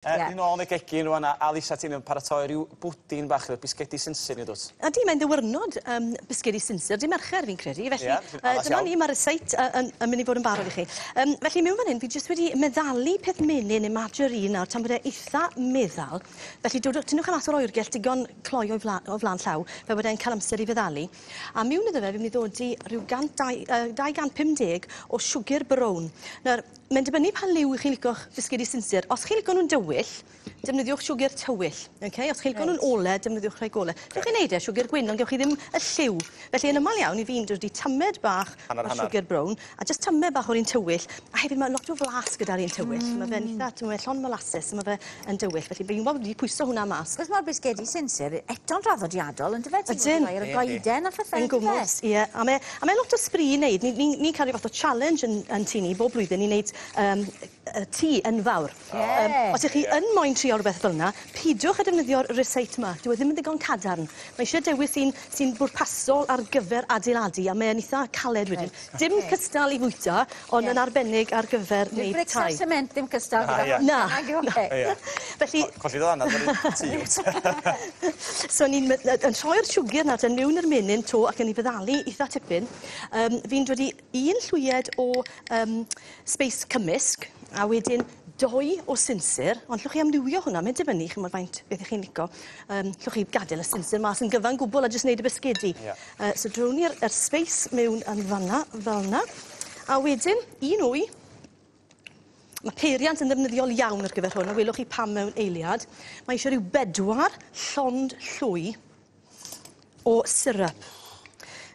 Ie. Ni nôl yn y gegin rŵan a a Lisa ti'n yn paratoi ryw bwdin bach efo bisgedi sinsir ni dwt? Ydi mae'n ddiwrnod yym bisgedi sinsir dy' Mercher fi'n credu felly... Ie. ...yy dyma ni ma'r ryseit yy yn yn myn' i fod yn barod i chi. Yym felly miwn fan 'yn fi jyst wedi meddalu peth menyn ne' margarine nawr tan bod e itha meddal. Felly dodwch tynnwch e mas o'r oergell digon cloi o'i fla- o flan llaw fel bod e'n ca'l amser i feddalu. A miwn iddo fe fi myn' i ddodi rhyw gant dau yy 250 o siwgyr brown. Nawr Mae'n dibynnu pa liw 'ych chi'n lico'ch bisgedi sinsir. Os chi'n lico nw'n dywyll, defnyddiwch siwgr tywyll, oce? Os chi'n lico nw'n ole, defnyddiwch rhai gole. Gewch chi neud e siwgr gwyn, ond gewch chi ddim y lliw. Felly yn amal iawn, 'yf fi'n dodi tamed bach Hannar o hannar. siwgr brown, a jyst tamed bach o'r un tywyll, a hefyd ma' lot o flas gyda'r un tywyll. Ma' fe'n itha, t'mo' mae llond molasses, so ma' fe yn dywyll. Felly fi'n gwbod wedi pwyso hwnna mas. Achos ma'r bisgedi sinsir eto'n draddodiadol yndyfe? Ydyn. Ti'n rhoi ar y goeden a phethe Yn yndyfe? gwmws, ie. A mae a mae lot o sbri i neud. Ni ni'n ni'n cael ryw fath o challenge yn yn tŷ ni bob blwyddyn i neud yym yy tŷ enfawr. Ie. Yym os 'ych chi yn moyn trio rwbeth fel 'na, pidwch â defnyddio'r ryseit 'ma. Dyw e ddim yn ddigon cadarn. Mae isie dewis un sy'n bwrpasol ar gyfer adeiladu a mae e'n itha caled wedyn. Reit. Dim cystal i fwyta, ond yn arbennig ar gyfer Dyw neud brics a tai. sement ddim cystal Na, gyda ie. Na. Nag yw e? Ie. Felly... Colli dy ddannadd ar y tŷ wyt? So ni'n my- yn troi'r siwgr nawr te miwn i'r menyn 'to ac yn 'i feddalu itha tipyn. Yym fi'n dod i un llwyed o yym sbeis cymysg a wedyn dou o sinsir, ond llwch chi amrywio hwnna, mae'n dibynnu ch'mod faint beth 'ych chi'n lico. Yym llwch chi gadel y sinsir mas yn gyfan gwbwl a jyst neud y bisgedi. Ie. So drown ni'r yr sbeis miwn yn fan 'na, fel 'na. A wedyn un wy. Ma' peiriant yn ddefnyddiol iawn ar gyfer hwn, a welwch chi pam mewn eiliad. Mae eisiau rhyw bedwar llond llwy o syrup.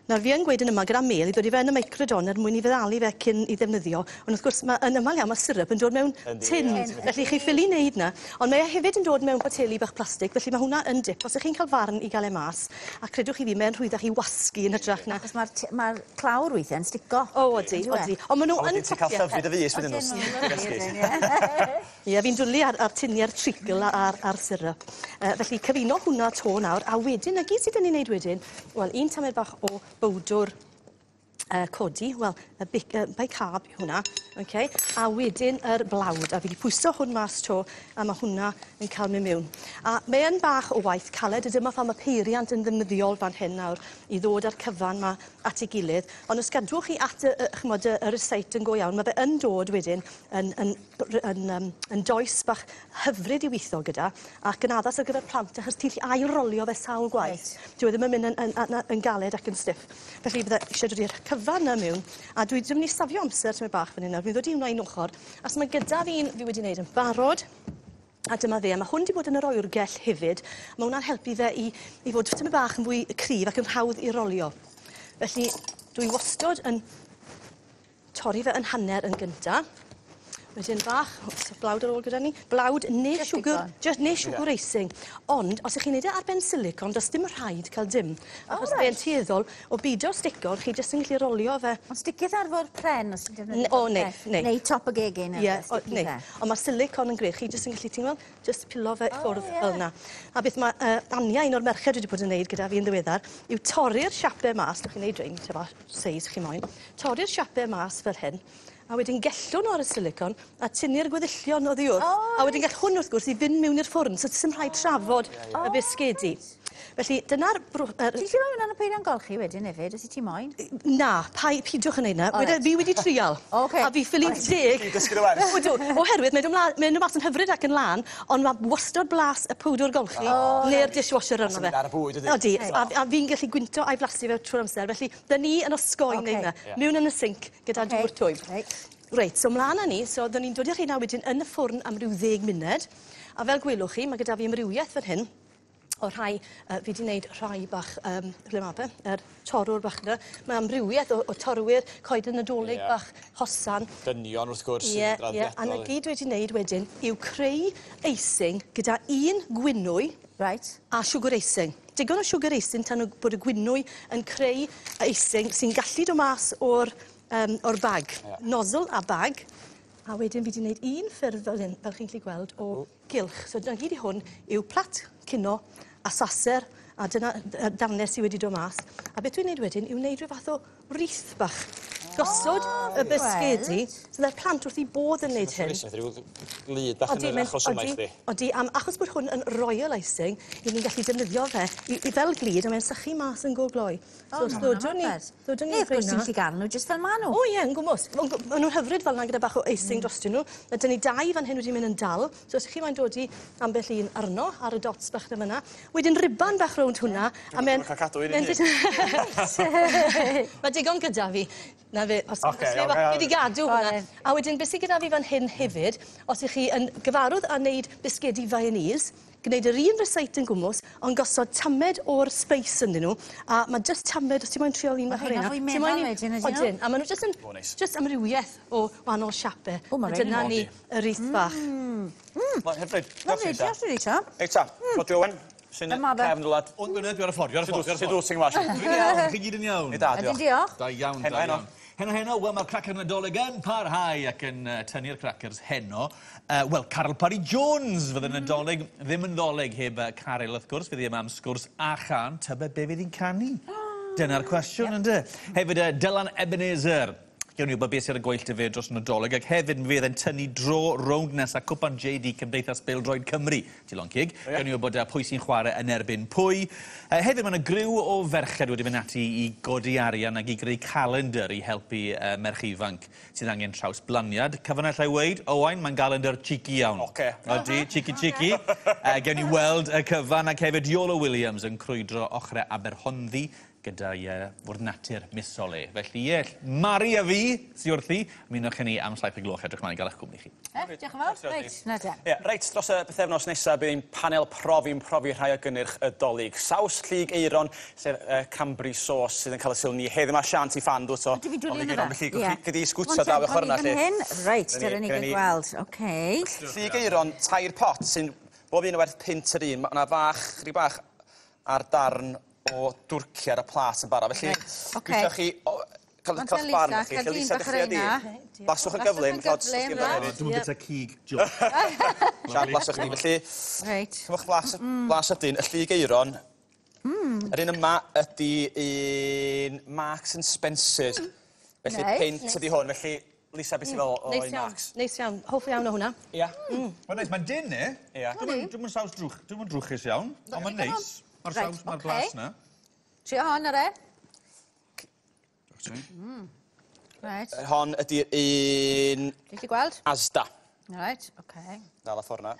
Nawr fi yn gweud yn yma gyda mel i ddod i fe yn y microdon er mwyn i feddalu fe cyn i ddefnyddio, ond wrth gwrs ma' yn amal iawn ma' syrup yn dod mewn tin, felly chi ffili neud 'na. Ond mae e hefyd yn dod mewn poteli bach plastig, felly ma' hwnna yn dip. Os 'ych chi'n ca'l farn i ga'l e mas, a credwch chi fi, mae'n rhwyddach i wasgu yn hytrach na... Achos ma'r t- ma'r clawr weithie'n stico. O odi, odi. Ond ma' n'w A yn wedyn ti'n ca'l tocio. llyfr i dy fys wedyn os Ie, fi'n dwli ar ar tiniau'r treacle a'r a'r syrup. Felly cyfuno hwnna 'to nawr, a wedyn 'na gyd sy 'dyn ni neud wedyn, wel, un tamed bach o bowdwr codi, wel, y bic- yy bicarb yw hwnna, oce? A wedyn yr blawd, a fi 'di pwyso hwn mas 'to, a ma' hwnna yn ca'l myn' miwn. A mae yn bach o waith caled, a dyma pham ma' peiriant yn ddefnyddiol fan hyn nawr i ddod â'r cyfan 'ma at ei gilydd. Ond os gadwch chi at y y ch'mod y y ryseit yn go iawn, ma' fe yn dod wedyn yn yn yn yym yn does bach hyfryd i witho gyda ac yn addas ar gyfer plant achos ti'n gallu ail rolio fe sawl gwaith. Reit. Dyw e ddim yn mynd yn yn yn yn galed ac yn stiff. Felly bydde isie dod i'r cyfan 'na miwn a dwi 'di myn' i safio amser tymed bach fan 'yn nawr. Fi'n ddod i wnna un ochor achos ma' gyda fi un fi wedi neud yn barod. A dyma fe, a ma' hwn 'di bod yn yr oergell hefyd. Ma' wnna'n helpu fe i i fod tymed bach yn fwy cryf ac yn hawdd i rolio. Felly dwi wastod yn torri fe yn hanner yn gynta. Wedyn bach, o's blawd ar ôl gyda ni? Blawd neu Jyst siwgr, digon. jyst neu siwgr icing. Ond os 'ych chi'n neud e ar ben silicon, does dim rhaid ca'l dim. Achos O fe'n reit. tueddol o bido stico, chi jyst yn gallu rolio fe. Ond sticith ar fwrdd pren os ti'n defnyddio O fwrdd neith, pren. neith. Neu top y gegin Ie, o sticky neith. fe. Ond ma' silicon yn grêt, chi jyst yn gallu, ti'n gweld, jyst pilo fe O, ffwrdd ie. fel 'na. A beth ma' Ania, un o'r merched dwi 'di bod yn neud gyda fi yn ddiweddar, yw torri'r siape mas, dych chi'n neud rein, ta ba seis chi moyn, torri'r siape mas fel hyn, a wedyn gellwn nhw ar y silicon a tynnu'r gweddillion oddi wrth. O, A wedyn gall hwn wrth gwrs i fynd mewn i'r ffwrn, so sim rhaid trafod y bisgedi. Felly dyna'r bro- yr... Ti'n gallu rhoi hwnna yn y peiriant golchi wedyn hefyd, os i ti moyn? Na, pai, pidwch yn neud 'na. O, Weda, reit. fi wedi trial. Ocê. A fi ffili deg. Ti'n dysgu dy wers. Ydw, oherwydd mae'n dod mae'n dod mas yn hyfryd ac yn lân, ond mae wastod blas y powdwr golchi neu'r dishwasher arno fe. Sy'n mynd ar y bwyd, ydi? Odi, a, a fi'n gallu gwynto a'i flasu fe trwy'r amser. Felly, dyn ni yn osgoi Ocê. wneud 'na. Ie. Mewn yn y sinc gyda Ocê. dŵr twym. Reit. Reit, so mlaen â ni. So, dyn ni'n dod i'r rheina wedyn yn y ffwrn am ryw ddeg munud. A fel gwelwch chi, mae gyda fi amrywiaeth fan hyn o rhai, fi 'di wneud rhai bach, ble ma' fe, yr torrwr bach 'na. Mae amrywiaeth o, o torwyr, coeden Nadolig bach, hosan. Dynion wrth gwrs Ie, ie. A 'na gyd dwi wedi wneud wedyn yw creu icing gyda un gwynwy Reit. a siwgr icing. Digon o siwgr icing tan o- bod y gwynwy yn creu icing sy'n gallu dod mas o'r, um, o'r bag. Nozzle a bag. A wedyn fi wedi gwneud un ffurf fel hyn, fel chi'n gallu gweld, o gylch. So dyna gyd i hwn yw plat cinio a saser, a dyna darnau sydd wedi dod mas. A beth dwi'n gwneud wedyn yw wneud rhyw fath o wreath bach. Gosod y bisgedi. So mae'r plant wrth 'u bodd yn neud hyn. Rhyw glud bach yn yr achos yma i chdi. Odi, am achos bod hwn yn royal icing, 'yn ni'n gallu defnyddio fe i fel glud a mae'n sychu mas yn go gloi. So os ddodwn ni, ddodwn ni Neu wrth gwrs ti'n gallu gael nhw jyst fel ma' nhw. O ie, yn gwmws. Ma' nhw'n hyfryd fel 'na gyda bach o icing drostyn nhw. Ma' 'dyn ni dau fan hyn wedi mynd yn dal, so os 'ych chi moyn dodi ambell un arno ar y dots bach 'na fyn 'na. Wedyn riban bach rownd hwnna a me'n... Dwi'm yn ca'l cadw un i hun. Ma' digon gyda fi. 'Na fe, os os neb fi 'di gadw hwnna. A wedyn be' sy gyda fi fan hyn hefyd, os 'ych chi yn gyfarwdd â neud bisgedi Viennese, gneud yr un recipe yn gwmws, ond gosod tamed o'r spice ynddyn nhw, a ma' jyst tamed, os ti moyn trial un bach o'r reina. Fwy meddal wedyn ydyn nhw? Odyn, a ma' nhw jyst yn jyst amrywieth o wahanol siape. O, ma' A dyna ni y wreath bach. Mae'n hyfryd. Lyfli, diolch Lisa. Reit ta, Rhodri Owen, sy'n cefn dwlad. Ond gwynedd, dwi ar y ffordd, dwi ar y ffordd, dwi ar y Sut ffordd. wyt ti'n ngwas? Dwi'n iawn, chi gyd yn iawn. Ni da, Ydyn, diolch. diolch. Da iawn, Heno, da heno. iawn. Heno, heno, wel, mae'r cracer Nadolig yn parhau ac yn tynnu'r crackers heno. Wel, Caryl Parry Jones fydd yn Nadolig, ddim yn ddolig heb Caryl, wrth gwrs, fydd hi yma am sgwrs a chân, tybed be fydd hi'n canu? Dyna'r cwestiwn, ynde? Hefyd, Dylan Ebenezer. Gewn ni wybod beth sydd ar y gweill 'da fe dros y Nadolig, ac hefyd mi fydd e'n tynnu dro rownd nesa Cwpan JD Cymdeithas Bêl-droed Cymru, Dilon Cig. Gewn ni wybod pwy sy'n chwarae yn erbyn pwy. Hefyd, mae yna griw o ferched wedi mynd ati i godi arian ac i greu calendar i helpu merch ifanc sydd angen trawsblaniad. Cyfan alla i weud, Owain, mae'n galendar cheeky iawn. Ocê. Odi, cheeky cheeky. Gewn ni weld y cyfan, ac hefyd Iolo Williams yn crwydro ochrau Aberhonddu gyda'i fwrdd natur misol e. Felly ie, Mari a fi sy wrthi, ymunwch â ni am 7 y gloch, edrych mlaen i gael eich cwmni chi. Diolch yn fawr. Reit, na te. Ie, reit, dros y bythefnos nesaf bydd ein panel profi'n profi rhai o gynnyrch y Dolig. Saws llyg Aeron, sef cranberry sauce sydd yn cael y sylw ni heddiw yma. Sian, ti ffan, dwyt o? Ydw, fi'n dwlu Ond yna fe. Felly, gyd i sgwtio draw y chorna, lle. Hyn. Reit, dyna ni gael gweld. Oce. Llyg Aeron, 3 pot, sy'n bob un o werth punt yr un. Mae yna fach, chydig bach ar darn o dwrci ar y plat yn barod. Felly, Ocê. gwithio chi cael Ond cael barn Lisa, chi. cael Lle dyn Lisa bach dechrau di. reina. Blaswch yn gyflym, Blaswch yn chod, os gyflym, ti'n reit. hefyd. Dwi'm yn byta cig, John. Sian, blaswch chi. Felly, Reit. cymwch blas, blas ydyn, y llyg Aeron. Yr un yma ydy un Marks and Spencer's. Felly, Neis, peint neis. ydy hwn. Felly, Lisa, beth ti'n fel o Neis un iawn, Marks? neis iawn. Hoff iawn o hwnna. Ia. Mae'n neis, mae'n dyn, e? Ia. Dwi'm yn saws drwch, dwi'm yn drwchus iawn, ond mae'n neis. Mae'r Reit, saws, mae'r ocê. blas na. Trio hon ar e. Reit. Yr Hon ydy'r un Ti'n gallu gweld? Asda. Reit, oce. Dal a ffordd na.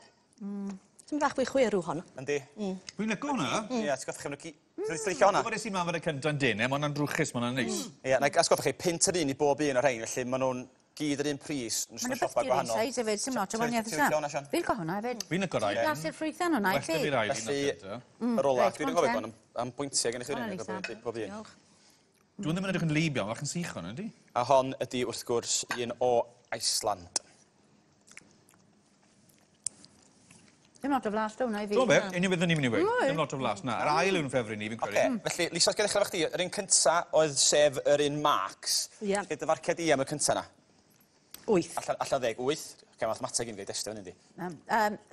Ti'n bach fwy chwerw hon. Yndi. Dwi'n licio hwnna. Ia, ti'n goffi chi... Ti'n licio hwnna? Gwybod es i mlaen fod y cynta'n dyn, e? Mae hwnna'n drwchus, mae hwnna'n neis. Ia, na i atgoffa chi, punt yr un i bob un o'r rhain, felly maen nhw'n gyd yr un pris, yn Mae'n siopa beth i'r un gwahanol. size hefyd, sy'n lot o wahaniaeth Ti'n licio hwnna, Sian? Fi'n licio hwnna hefyd. Fi'n licio'r ail. Blasu'r ffrwythau hwnna i Well da fi. fi'r ail un Felly, o'r cynta. yr ola, Reit, dwi'n go on gofio ten. bod am bwyntiau gennych chi Go on, un, Lisa. bob un. Dwi'n ddim yn edrych yn lib iawn, fach yn sych hwn, yndi? A hon ydy, wrth gwrs, un o Iceland. Dim lot o flas do hwnna i fi. Dwi'n be, union beth o'n i'n mynd i weud. Dim lot o flas, na. Yr ail yw'n ffefryn i, fi'n Oce, credu. felly, Lisa, os ddechrau efo chdi, yr un cynta oedd sef yr un Marks. Ie. Lle dy farciad i am y cynta na? 8. Allan 10, 8. Oce, mathemateg i'n gwneud estio hynny, yndi?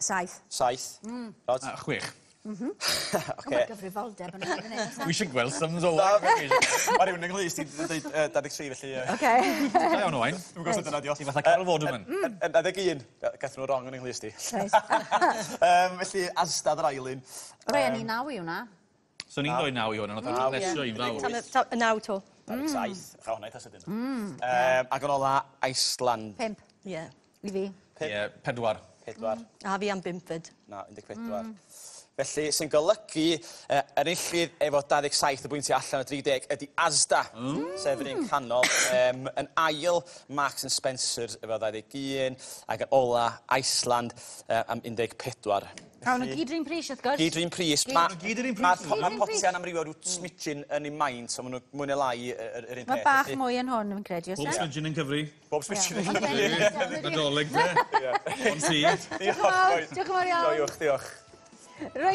7. 7. Rod? A 6. Oce. Mae gyfrifoldeb yn hynny. Wi eisiau gweld sums o Na, wain. Mae rhywun yng Nghlust i dweud 23, felly... Oce. Da iawn, Owain. Dwi'm yn gwybod sut dyna di o. Ti fatha Carol Vorderman. Yn 21. Gath nhw wrong yn Nghlust i. Reit. Felly, Asda yr ail un. Rei, o'n i 9 i hwnna. So ni'n rhoi 9 i hwn, ond oedd o'n lesio i'n fawr. 9 to. 27. Cha hwnna eitha sydyn. Ac yn ola, Iceland. 5 Ie. i fi. Ie, 4. 4. A fi am 5 fyd. Na, 14. Felly, sy'n golygu enillydd efo 27 o bwyntiau allan o 30 ydy Asda, sef yr un canol. Yn ail, Marks and Spencer efo 21, ac yn ola, Iceland am 14. A nhw gyd yr un pris, wrth gwrs. Gyd yr un pris. Maen nhw gyd yr un pris. Mae'r potiau'n amrywio rhyw smidgin yn ei maint, so maen nhw mwy neu lai yr un peth. Mae bach Felly, mwy yn hwn, fi'n credu, oes Bob e? smidgin yn cyfri. Bob smidgin yn cyfri. Nadolig, de. Ond ti. Diolch yn fawr, diolch yn fawr iawn. Joiwch, diolch. Reit.